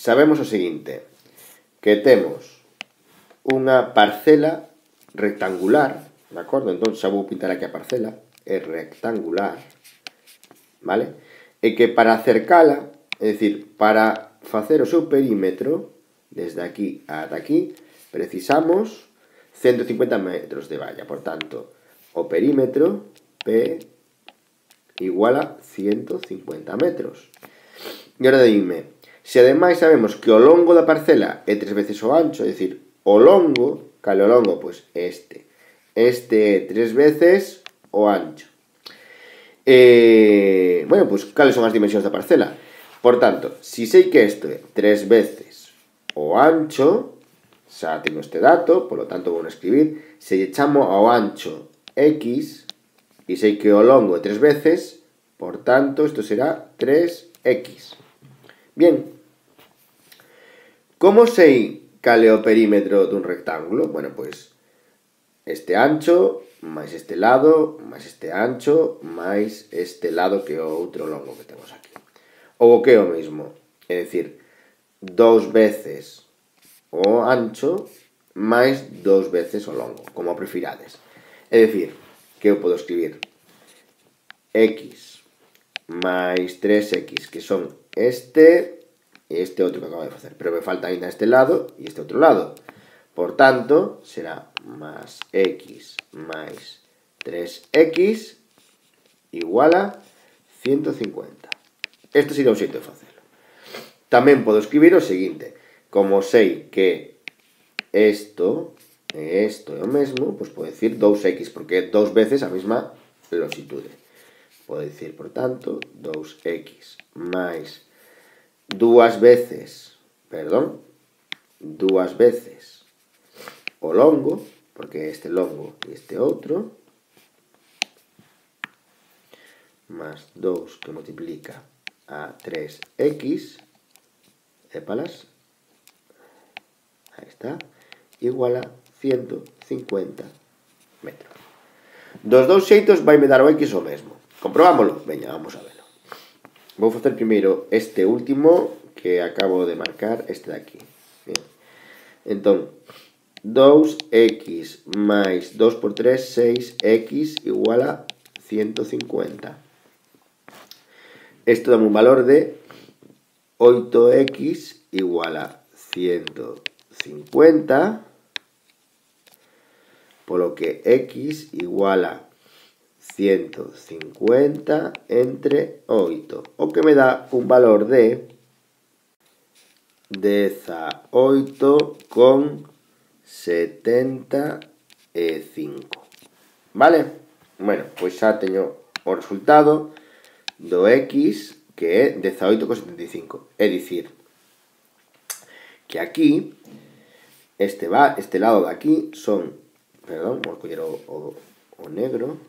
sabemos o seguinte, que temos unha parcela rectangular, de acordo? Entón xa vou pintar aquí a parcela, é rectangular, vale? E que para acercala, é dicir, para facer o seu perímetro, desde aquí ata aquí, precisamos 150 metros de valla. Por tanto, o perímetro P igual a 150 metros. E agora dime, se ademais sabemos que o longo da parcela é 3 veces o ancho, é dicir, o longo, cal é o longo? Pois este. Este é 3 veces o ancho. Bueno, pois cales son as dimensións da parcela? Por tanto, se sei que isto é 3 veces o ancho, xa teño este dato, polo tanto vou escribir, se lle chamo ao ancho x, e sei que o longo é 3 veces, por tanto, isto será 3x. Bien, como sei cal é o perímetro dun rectángulo? Bueno, pois este ancho, máis este lado, máis este ancho, máis este lado que é o outro longo que temos aquí. Ou o que é o mesmo, é dicir, 2 veces o ancho máis 2 veces o longo, como prefirades. É dicir, que eu podo escribir x máis 3x, que son este e este outro que acabo de facer, pero me falta ainda este lado e este outro lado. Por tanto, será más x máis 3x igual a 150. Este sería un xeito de facelo. Tamén podo escribir o seguinte, como sei que isto e isto é o mesmo, pois podo dicir 2x, porque é 2 veces a mesma longitude. Podo dicir, por tanto, 2x máis 2 veces o longo, porque este longo e este outro, más 2 que multiplica a 3x, épalas, aí está, igual a 150 metros. Dos dous xeitos vai me dar o x o mesmo. Comprobámoslo? Veña, vamos a velo. Vou facer primeiro este último que acabo de marcar, este de aquí. Bien. Entón, 2x máis 2 por 3, 6x igual a 150. Isto dá un valor de 8x igual a 150, polo que x igual a 150 entre 8, o que me dá un valor de 18,75. Vale? Bueno, pois xa teño o resultado do x, que é 18,75. É dicir, que aquí, este lado de aquí son, vamos coller o negro,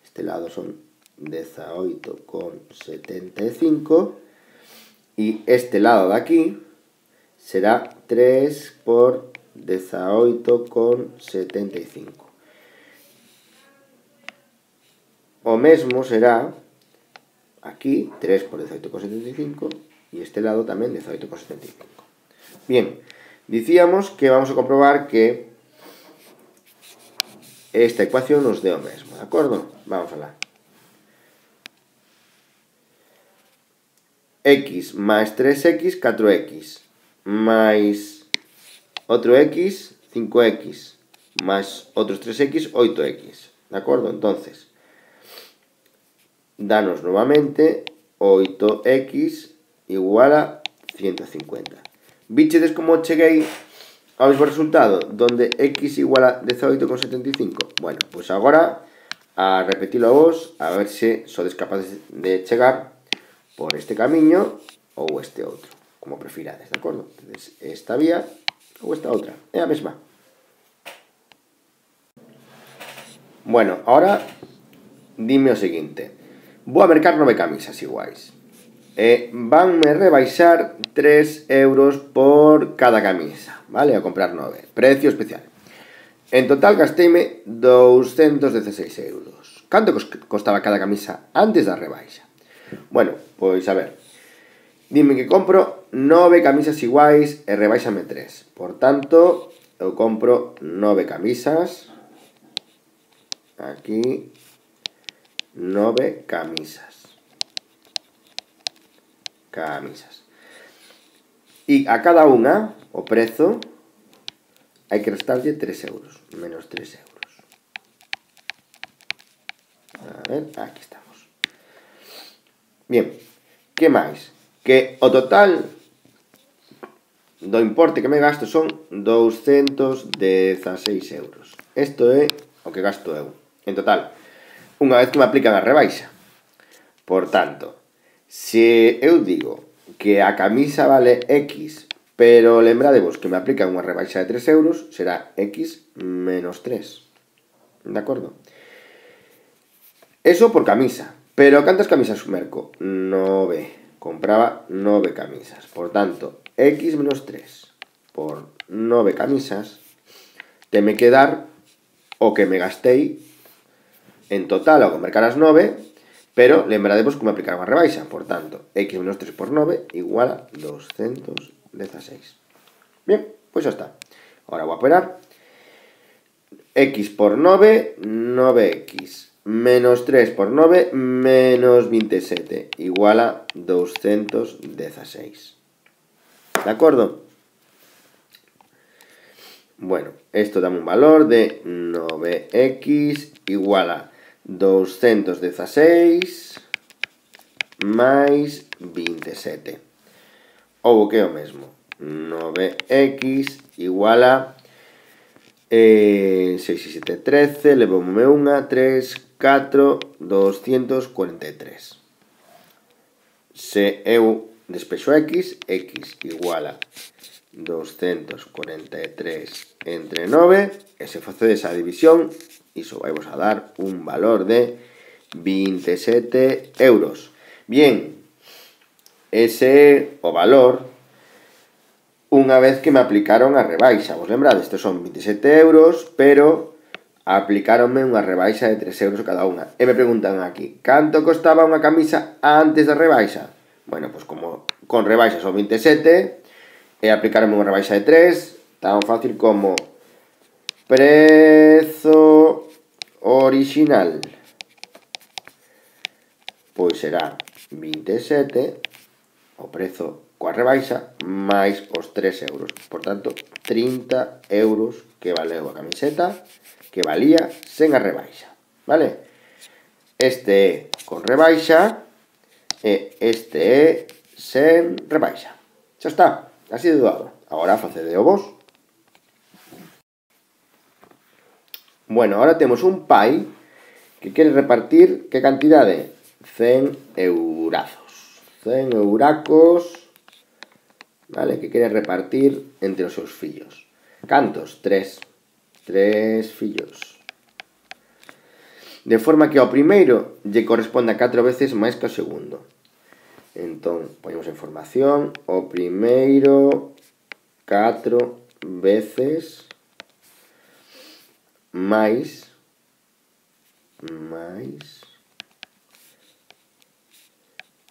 este lado son 18,75 e este lado de aquí será 3 por 18,75. O mesmo será aquí 3 por 18,75 e este lado tamén 18,75. Bien, dicíamos que vamos a comprobar que esta ecuación nos dé o mesmo, de acordo? Vamos alá. X máis 3x, 4x, máis outro x, 5x, máis outros 3x, 8x, de acordo? Entonces, danos novamente 8x igual a 150. Vichedes como cheguei ao mesmo resultado, donde x igual a 18,75? Bueno, pois agora a repetilo a vos, a ver se sodes capaces de chegar por este camiño ou este outro, como prefirades, de acordo? Entonces, esta vía ou esta outra, é a mesma. Bueno, ahora dime o seguinte, vou a mercar 9 camisas iguais. Vanme rebaixar 3 euros por cada camisa, vale? A comprar 9, precio especial. En total gasteime 216 euros. Canto costaba cada camisa antes da rebaixa? Bueno, pois a ver, Dime que compro 9 camisas iguais e rebáixame 3. Por tanto, eu compro 9 camisas. Aquí, 9 camisas. E a cada unha, o prezo, hai que restarlle 3 euros. Menos 3 euros. A ver, aquí estamos. Bien, que máis? Que o total do importe que me gasto son 216 euros. Isto é o que gasto eu. En total, unha vez que me aplican a rebaixa. Por tanto, se eu digo que a camisa vale X, pero lembradevos que me aplican unha rebaixa de 3 euros, será X menos 3. De acordo? Eso por camisa. Pero cantas camisas merco? 9. Compraba 9 camisas. Por tanto, X menos 3 por 9 camisas que me quedar o que me gastei en total ao mercar as 9, pero lembradevos que me aplicaron a rebaixa. Por tanto, X menos 3 por 9 igual a 216. Bien, pois xa está. Ahora vou a operar. X por 9, 9X. Menos 3 por 9, menos 27. Igual a 216. ¿De acuerdo? Bueno, esto da un valor de 9X igual a 216 máis 27. Ou que é o mesmo. 9X igual a 6 e 7, 13, levoume unha, 3, 4, 243. Se eu despexo X, X igual a 243 entre 9, e se facedes a división, iso vai vos a dar un valor de 27 euros. Bien, ese é o valor unha vez que me aplicaron a rebaixa. Vos lembrades, estes son 27 euros, pero aplicáronme unha rebaixa de 3 euros cada unha. E me preguntan aquí, canto costaba unha camisa antes da rebaixa? Bueno, pois como con rebaixa son 27, e aplicaronme unha rebaixa de 3, tan fácil como prezo orixinal. Pois será 27, o prezo coa rebaixa, máis os 3 euros. Por tanto, 30 euros que valeu a camiseta, que valía sen a rebaixa. Vale? Este é con rebaixa e este é sen rebaixa. Xa está, así de doado. Agora facedeo vos. Bueno, ahora temos un pai que quere repartir que cantidade? 100 eurazos. 100 euracos, vale, que quere repartir entre os seus fillos. Cantos? 3. 3 fillos. De forma que ao primeiro lle corresponde a 4 veces máis que ao segundo. Entón, ponemos a información. O primeiro 4 veces máis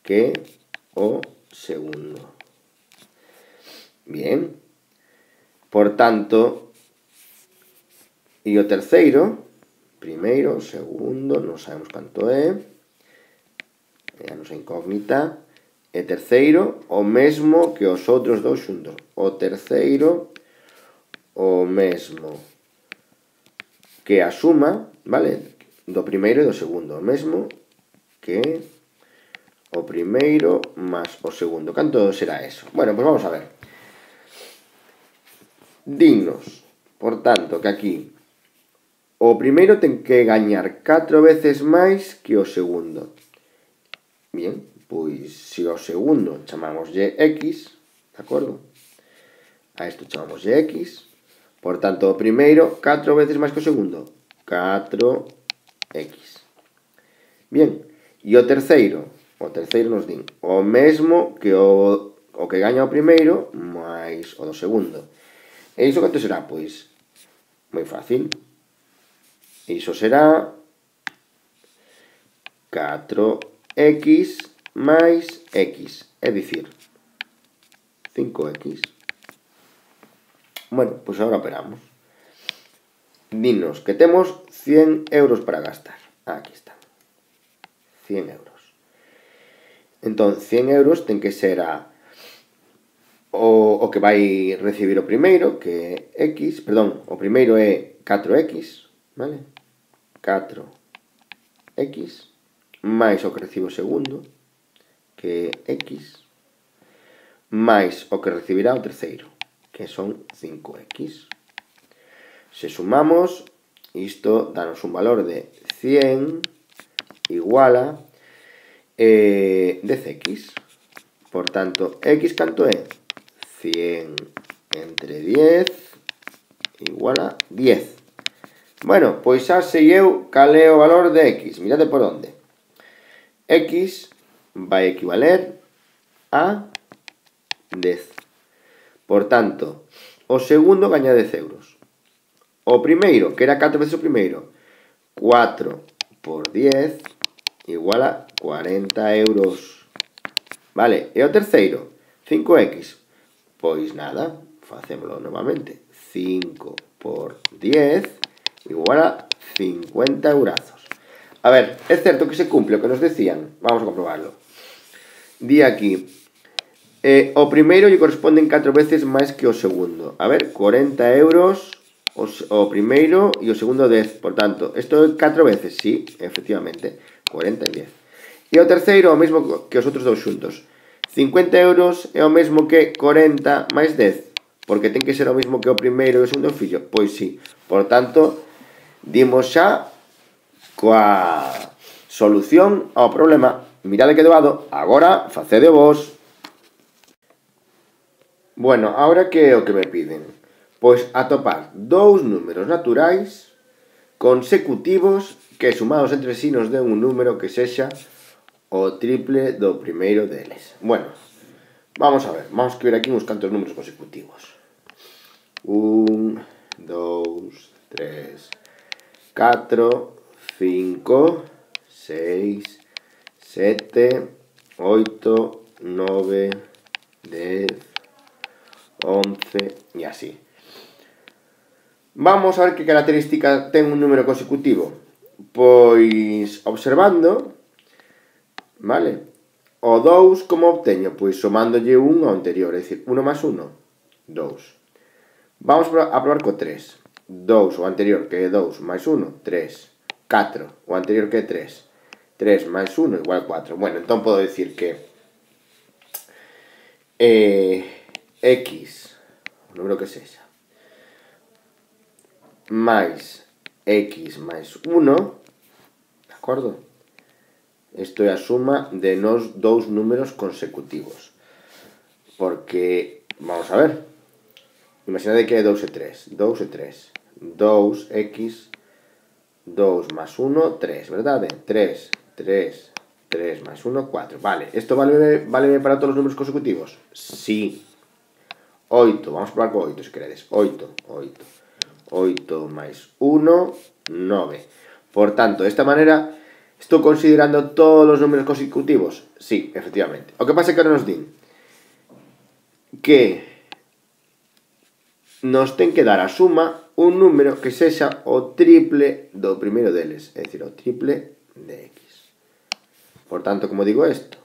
que o segundo. Bien. Por tanto, e o terceiro, primeiro, segundo, non sabemos canto é a nosa incógnita, e terceiro, o mesmo que os outros dous xuntos. O terceiro, o mesmo que a suma, vale, do primeiro e do segundo. O mesmo que o primeiro máis o segundo. Canto será eso? Bueno, pois vamos a ver. Dinnos, por tanto, que aquí o primeiro ten que gañar 4 veces máis que o segundo. Bien, pois se o segundo chamámoslle X, de acordo? A isto chamámoslle X. Por tanto, o primeiro 4 veces máis que o segundo. 4X. Bien, e o terceiro nos din o mesmo que o que gaña o primeiro máis o do segundo. E iso canto será? Pois moi fácil. Iso será 4X máis x, é dicir, 5x. Bueno, pois agora operamos. Dinos que temos 100 euros para gastar. Aquí está. 100 euros. Entón, 100 euros ten que ser o que vai recibir o primeiro, que é x, perdón, o primeiro é 4x, vale? 4x, máis o que recibe o segundo, que é x, máis o que recibirá o terceiro, que son 5x. Se sumamos, isto danos un valor de 100 igual a 10x. Por tanto, x canto é? 100 entre 10 igual a 10. Bueno, pois xa sei eu cal é o valor de x. Mirade por onde. X vai equivaler a 10. Por tanto, o segundo gaña 10 euros. O primeiro, que era 4 veces o primeiro, 4 por 10 igual a 40 euros. Vale, e o terceiro, 5x. Pois nada, facémolo novamente. 5 por 10 igual a 50 eurazos. A ver, é certo que se cumple o que nos decían. Vamos a comprobarlo. Di aquí, o primeiro lle corresponden 4 veces máis que o segundo. A ver, 40 euros o primeiro e o segundo 10. Por tanto, isto é 4 veces, sí, efectivamente. 40 e 10. E o terceiro o mesmo que os outros dous xuntos. 50 euros é o mesmo que 40 máis 10. Porque ten que ser o mesmo que o primeiro e o segundo fillo. Pois sí. Por tanto, dimos xa coa solución ao problema. Mirade que doado. Agora, facede vos. Bueno, agora que é o que me piden? Pois atopar dous números naturais consecutivos que sumados entre sí nos den un número que sexa o triple do primeiro deles. Bueno, vamos a ver. Vamos a escribir aquí uns cantos números consecutivos. 1, 2, 3, 4, 5, 6, 7, 8, 9, 10, 11 e así. Vamos a ver que característica ten un número consecutivo. Pois observando, vale? O 2 como obteño? Pois somándolle 1 ao anterior, é dicir, 1 máis 1, 2. Vamos a probar co 3. 2 o anterior que é 2 máis 1, 3. 4 o anterior que é 3. 3 máis 1 igual a 4. Bueno, entón podo dicir que x, o número que sexa, máis x máis 1, de acordo? Isto é a suma de nos dous números consecutivos. Porque, vamos a ver, imaginade que é 2 e 3. 2 e 3. 2x, 2 máis 1, 3, verdade? 3, 3, 3 máis 1, 4. Vale, isto vale para todos os números consecutivos? Sí. 8, vamos a probar con 8 se queredes. 8, 8. 8 máis 1, 9. Por tanto, de esta manera, estou considerando todos os números consecutivos? Sí, efectivamente. O que pasa é que ahora nos din que nos ten que dar a suma un número que sexa o triple do primeiro deles, é dicir, o triple de x. Por tanto, como digo isto,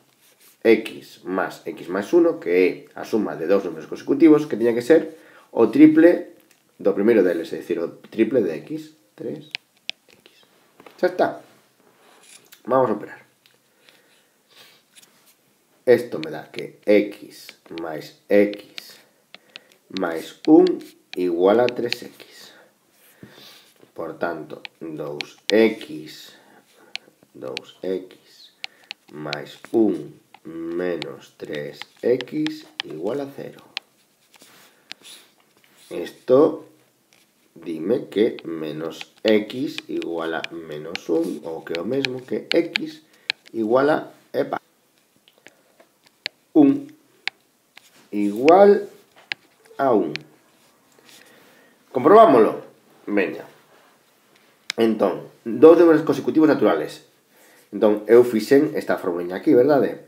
x máis 1, que é a suma de dous números consecutivos, que tiña que ser o triple do primeiro deles, é dicir, o triple de x. 3x. Xa está. Vamos a operar. Isto me dá que x máis 1 igual a 3x. Por tanto, 2x máis 1 menos 3x igual a 0. Isto dime que menos x igual a menos 1, ou que é o mesmo que x igual a 1 igual a 1. Comprobámoslo. Veña. Entón, dous números consecutivos naturales. Entón, eu fixen esta formula aquí, verdade?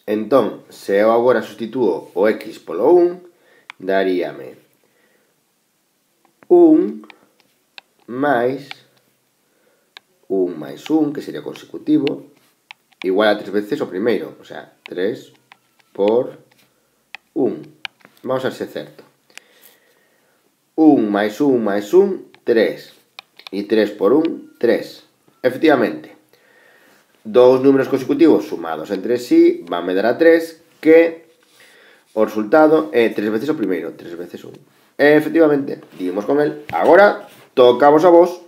Entón, se eu agora substitúo o x polo 1, daríame 1 máis 1 máis 1, que sería consecutivo, igual a 3 veces o primeiro, o sea, 3 por 1. Vamos a ver se é certo. 1 máis 1 máis 1, 3. E 3 por 1, 3. Efectivamente, dous números consecutivos sumados entre sí van me dar a 3, que o resultado é 3 veces o primeiro, 3 veces 1. Efectivamente, dimos con el. Agora, tocamos a vos.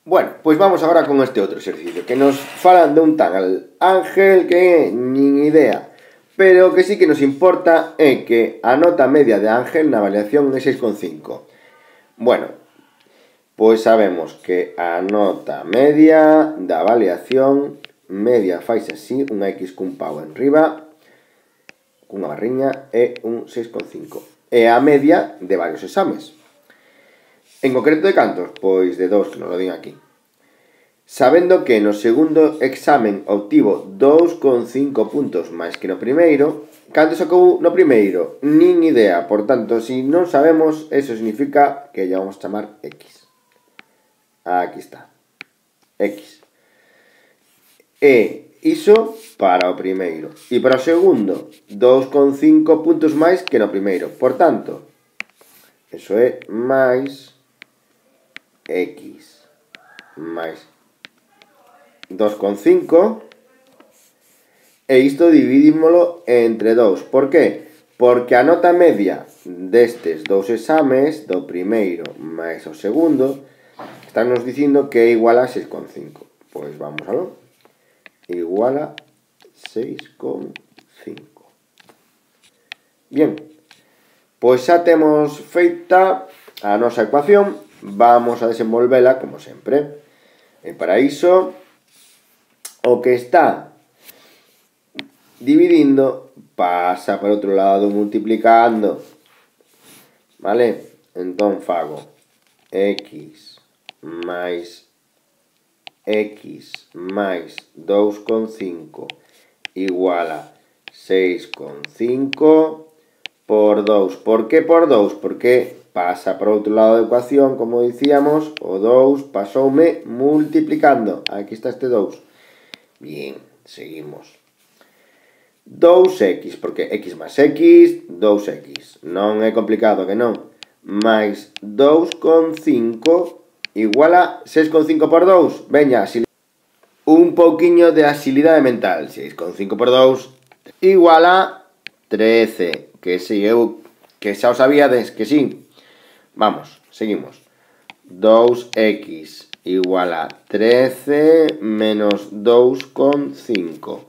Bueno, pois vamos agora con este outro exercicio, que nos falan de un tal Ángel que nin idea, pero que sí que nos importa é que a nota media de Ángel na avaliación é 6,5. Bueno, pois sabemos que a nota media da avaliación media faise así, unha X cun pau enriba, cunha barriña, é un 6,5. É a media de varios exames. En concreto de cantos? Pois de 2, que non lo digo aquí. Sabendo que no segundo examen obtivo 2,5 puntos máis que no primeiro, canto sacou no primeiro? Nin idea. Por tanto, se non sabemos, eso significa que lle vamos a chamar X. Aquí está. X. E iso para o primeiro. E para o segundo, 2,5 puntos máis que no primeiro. Por tanto, eso é máis X máis 2,5, e isto dividímolo entre 2. Por qué? Porque a nota media destes dous exames, do primeiro máis o segundo, están nos dicindo que é igual a 6,5. Pois vamos aló. Igual a 6,5. Bien, pois xa temos feita a nosa ecuación. Vamos a desenvolvela como sempre. E para iso, o que está dividindo pasa por outro lado multiplicando. Vale? Entón fago X máis 2,5 igual a 6,5 por 2. Por que por 2? Porque pasa por outro lado da ecuación, como dicíamos, o 2 pasoume multiplicando. Aquí está este 2. Bien, seguimos. 2x, porque x máis x, 2x. Non é complicado, que non? Máis 2,5 igual a 6,5 por 2. Veña, un pouquiño de agilidade mental. 6,5 por 2 igual a 13. Que si eu, que xa o sabíades, que sí. Vamos, seguimos. 2x igual a 13 menos 2,5.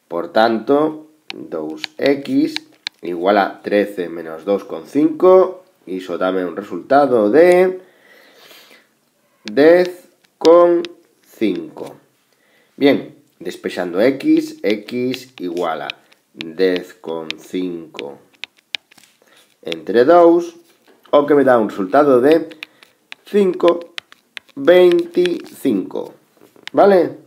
Por tanto, 2x igual a 13 menos 2,5. Iso dame un resultado de 10,5. Bien, despexando x igual a 10,5 entre 2, o que me dá un resultado de 5,25. Vale?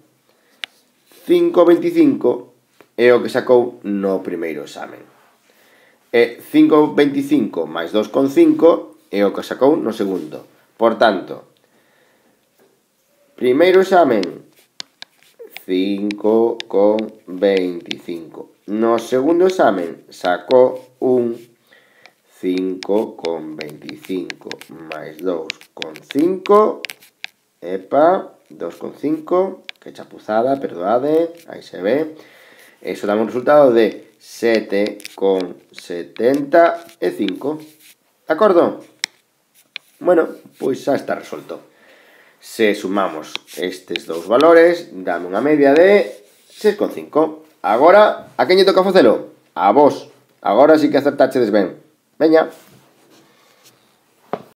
5,25 é o que sacou no primeiro examen. E 5,25 máis 2,5 é o que sacou no segundo. Por tanto, primeiro examen, 5,25. No segundo examen sacou un 5,25 máis 2,5. Epa, 2,5. Que chapuzada, perdoade. Aí se ve. Eso dá un resultado de 7,75. De acordo? Bueno, pois xa está resolto. Se sumamos estes dous valores, dame unha media de 6,5. Agora, a quen lle toca facelo? A vos. Agora sí que acertachedes ben. Veña.